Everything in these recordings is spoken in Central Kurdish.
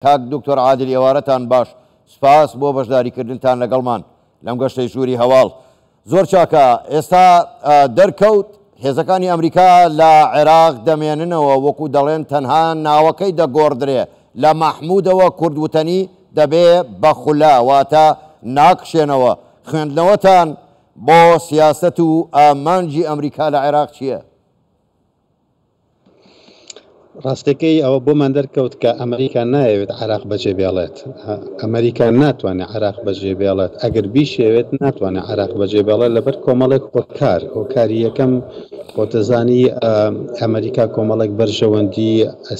کاک دکتۆر عادل ئێوارەتان باش سوپاس بۆ بەشداری کردنتان لەگەڵمان لەم گەشتەی ژووری هەواڵ. زۆر چاکە ئێستا دەرکەوت هێزەکانی ئەمریکا لە عێراق دەمێننەوە وەکو دەڵێن تەنها ناوەکەی دەگۆڕدرێ لە مەحمودەوە کورد وتەنی دەبێ بە خولە واتە ناکشێنەوە خوێندنەوەتان بۆ سیاسەت و ئامانجی ئەمریکا لە عێراق چییە؟ ڕاستەکەی ئەوە بۆمان دەرکەوت کە ئەمریکا نایەوێت عێراق بەجێ بێڵێت. ئەمریکا ناتوانێت عێراق بەجێ بێڵێت. ئەگەر بیشێوێت ناتوانێت عێراق بەجێ بێڵێت لەبەر کۆمەڵێک هۆکار. هۆکاری یەکەم خۆتەزانی ئەمریکا کۆمەڵێک بەرژەوەندی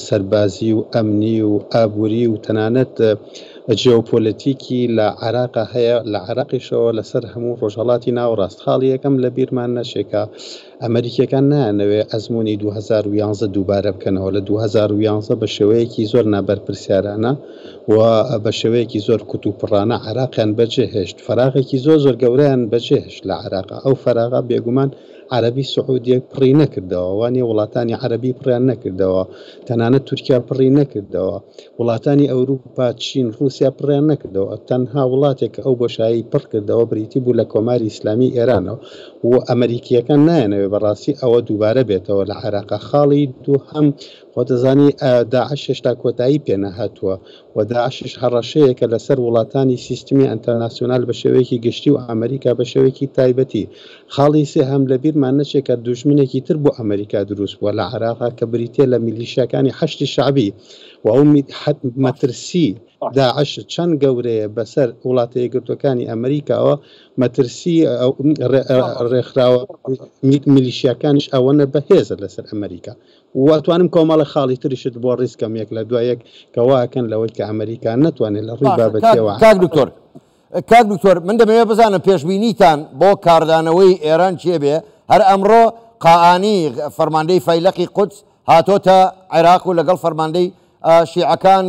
سەربازی و ئەمنی و ئابووری و تەنانەت جیۆپۆلەتیکی لە عێراقا هەیە، لە عێراقیشەوە لەسەر هەموو ڕۆژهەڵاتی ناوەڕاست. خاڵی یەکەم لەبیرمان نەچێ کە ئەمەریکییەکان نایانەوێت ئەزموونی 2011 دووبارە بکەنەوە، لە 2011 بە شێوەیەکی زۆر نابەرپرسیارانە و بە شێوەیەکی زۆر کوتوپڕانە عێراقیان بەجێهێشت، فەراغێکی زۆر زۆر گەورەیان بەجێهێشت لە عێراق، ئەو فەراغە بێگومان عەرەبی سعودیە پڕی نەکردەوە، وانیە وڵاتانی عەرەبی پڕیان نەکردەوە، تەنانەت تورکیا پڕی نەکردەوە. وڵاتانی ئەوروپا، چین، ڕووسیا پڕیان نەکردەوە، تەنها وڵاتێک کە ئەو بۆشایەی پڕ کردەوە بریتی بوو لە کۆماری ئیسلامیی ئێرانەوە و ئەمەریکییەکان نایانەوێت بەڕاستی ئەوە دووبارە بێتەوە لە عێراقا. خاڵی دووهەم، خۆ دەزانی داعش هێشتا کۆتایی پێ نەهاتووە و داعشیش هەڕەشەیەکە لەسەر وڵاتانی سیستمی ئەنتەرناسیۆنال بە شێوەیەکی گشتی و ئەمەریکا بە شێوەیەکی تایبەتی. خاڵی سێهەم، لەبیرمان نەچێت کە دوژمنێکی تر بۆ ئەمەریکا دروست بووە لە عێراقا کە بریتییە لە میلیشیاکانی حەشدی شەعبی و ئەو مەترسی داعش چەند گەورەیە بەسەر وڵاتە یەکگرتووەکانی ئەمەریکاوە، مەترسی ڕێکخراوە میلیشیاکانیش ئەوەنە بەهێزە لەسەر ئەمەریکا و ئەتوانم کۆمەڵێک خاڵی تریشت بۆ ڕیز کەم یەک لە دوای یەک کە وا ئەکەن لەوەی کە ئەمەریکا نەتوانێت لە ڕووی باشە بابەتیەوە کاک دکتۆر کاک دکتۆر من دەمەوێت بزانم پێشبینیتان بۆ کاردانەوەی ئێران چێ بێ هەر ئەمڕۆ قائانی فەرماندەی فەیلەقی قودس هاتۆتە عێراق و لەگەڵ فەرماندەی شیعەکان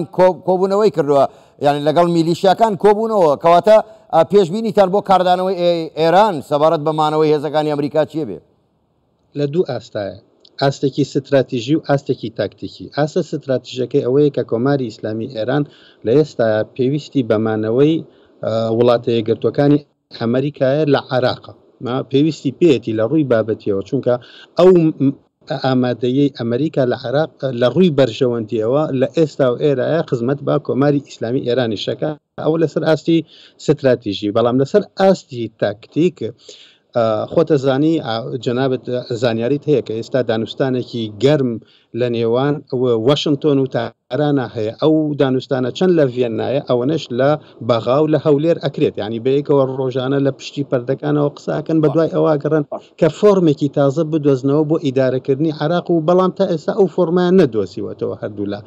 کۆبوونەوەی کردووە یعنی لەگەڵ میلیشیاکان کۆبوونەوە کەواتە پێشبینیتان بۆ کاردانەوەی ئێران سەبارەت بە مانەوەی هێزەکانی ئەمریکا چیە بێ؟ لە دوو ئاستایە، ئاستێکی ستراتیژی و ئاستێکی تاکتیکی. ئاستە ستراتیژەکەی ئەوەیە کە کۆماری ئیسلامی ئێران لە ئێستایا پێویستی بە مانەوەی وڵاتە یەکگرتووەکانی ئەمریکایە لە عێراق. پێویستی پێیەتی لە ڕووی بابەتیەوە، چونکە ئەو ئامادەییەی ئەمریکا لە عێراق لە ڕووی بەرژەوەندیەوە لە ئێستا و ئێرایە خزمەت بە کۆماری ئیسلامی ئێرانیش ئەکا. ئەوە لەسەر ئاستی ستراتیژی، بەڵام لەسەر ئاستی تاکتیک خۆت ئەزانی جەنابت زانیاریت هەیە کە ئێستا دانوستانێکی گەرم لە نێوان واشنتۆن و تارانا هەیە ئەو دانوستانە چەند لە ڤیەننایە ئەوەنەش لە بەغا و لە هەولێر ئەکرێت یعنی بەیەکەوە ڕۆژانە لە پشتی پەردەکانەوە قسە ئەکەن بە دوای ئەوە گەڕن کە فۆرمێکی تازە بدۆزنەوە بۆ ئیدارەکردنی عێراق و بەڵام تا ئێستا ئەو فۆرمایان نەدۆزیوەتەوە هەردوولا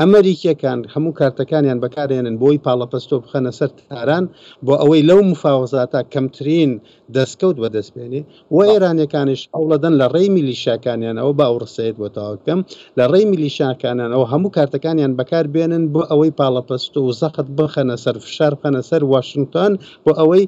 ئەمەریکیەکان هەموو کارتەکانیان بەکارێنن بۆی پاڵەپەستۆ بخەنە سەر تاران بۆ ئەوەی لەو مفاوەزاتە کەمترین دەستکەوت بەدەست بێنێ و ئێرانیەکانیش هەوڵەدەن لە ڕێی میلیشیاکانیانەوە با ئەو ڕستەیەت بۆ تەواو بکەم لە ڕێی میلیشیاکانیانەوە هەموو کارتەکانیان بەکار بێنن بۆ ئەوەی پاڵەپەستۆ و زەخت بخەنە سەر فشار بخەنە سەر واشنگتۆن بۆ ئەوەی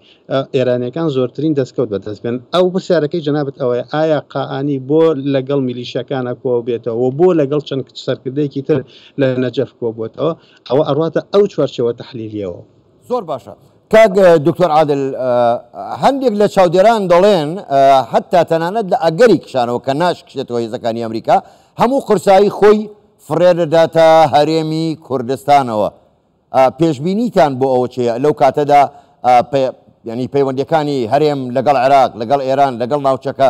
ئێرانیەکان زۆرترین دەستکەوت بەدەست بێنن. ئەو پرسیارەکەی جەنابت ئەوەیە ئایا قائانی بۆ لەگەڵ میلیشیاکانا کۆبێتەوە و بۆ لەگەڵ چەند سەرکردەیەکی تر لە نەجەف کۆبووەتەوە؟ ئەوە ئەڕواتە ئەو چوارچێوە تەحلیلیەوە. زۆر باشە کاک دکتۆر عادل هەندێک لە چاودێران دەڵێن حتا تەنانەت لە ئەگەری کشانەوە کە ناشکشێتەوە هێزەکانی ئەمریکا هەموو قورسایی خۆی فڕێ دەداتە هەرێمی کوردستانەوە پێشبینیتان بۆ ئەوە چیە لەو کاتەدا ینی پەیوەندەکانی هەرێم لەگەڵ عێراق لەگەڵ ئێران لەگەڵ ناوچەکە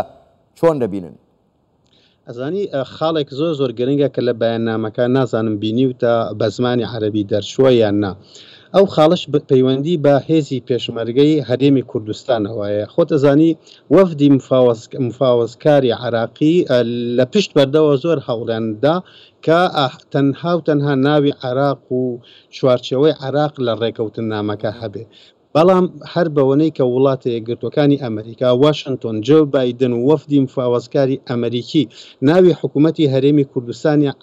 چۆن دەبینن؟ ئەزانی خاڵێک زۆر زۆر گرنگە کە لە بەیاننامەکە نازانم بینیوتە بە زمانی عەرەبی دەرچووە یان نا ئەو خاڵەش پەیوەندی بە هێزی پێشمەرگەی هەرێمی کوردستانەوەیە خۆت ئەزانی وەفدی مفاوەزکاری عراقی لە پشت بەردەوە زۆر هەوڵیان دا کە تەنها و تەنها ناوی عراق و چوارچێوەی عراق لە ڕێکەوتننامەکە هەبێ بەڵام هەر بەوەنەی کە وڵاتە یەکگرتووەکانی ئەمەریکا، واشنتۆن، جۆ بایدن و وەفدی مفاوەزکاری ئەمەریکی ناوی حکوومەتی هەرێمی کوردستانیان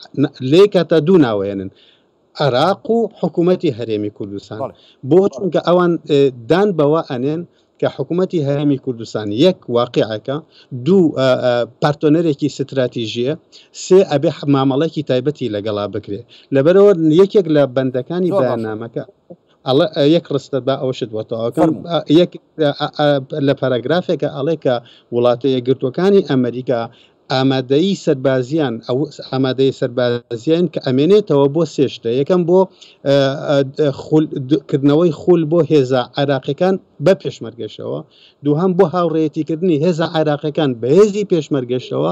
لێ کاتا دوو ناوەیەنن، عێراق و حکوومەتی هەرێمی کوردستان. بۆ؟ چونکە ئەوان دان بەوە ئەنێن کە حکوومەتی هەرێمی کوردستان یەک واقیعەکە، دوو پارتۆنەرێکی ستراتیژییە، سێ ئەبێ مامەڵەیەکی تایبەتی لەگەڵا بکرێ. لەبەرئەوە یەکێک لە بەندەکانی بەیاننامەکە ئەڵێ یەک ڕستە با ئەوەشت بۆ تەواوکەم یەک لە پاراگرافێکە ئەڵێ کە وڵاتە یەکگرتووەکانی ئەمریکا ئامادەیی سەربازیان ئەو ئامادەی سەربازیان کە ئەمێنێتەوە بۆ سێ شتە یەکەم بۆ کردنەوەی خول بۆ هێزە عێراقیەکان بە پێشمەرگەشەوە دووهەم بۆ هاوڕێیەتیکردنی هێزە عێراقیەکان بە هێزی پێشمەرگەشەوە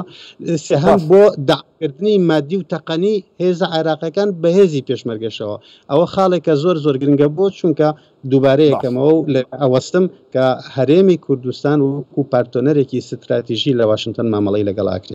سێهەم بۆ دەعمکردنی مادی و تەقەنی هێزە عێراقیەکان بە هێزی پێشمەرگەشەوە ئەوە خاڵێکە زۆر زۆر گرنگە بۆ چونکە دووبارە یەکەمەوە و لێرە ئەوەستم کە هەرێمی کوردستان وەکو پارتۆنەرێکی ستراتیژی لە واشنتۆن مامەڵەی لەگەڵ ئەکرێت.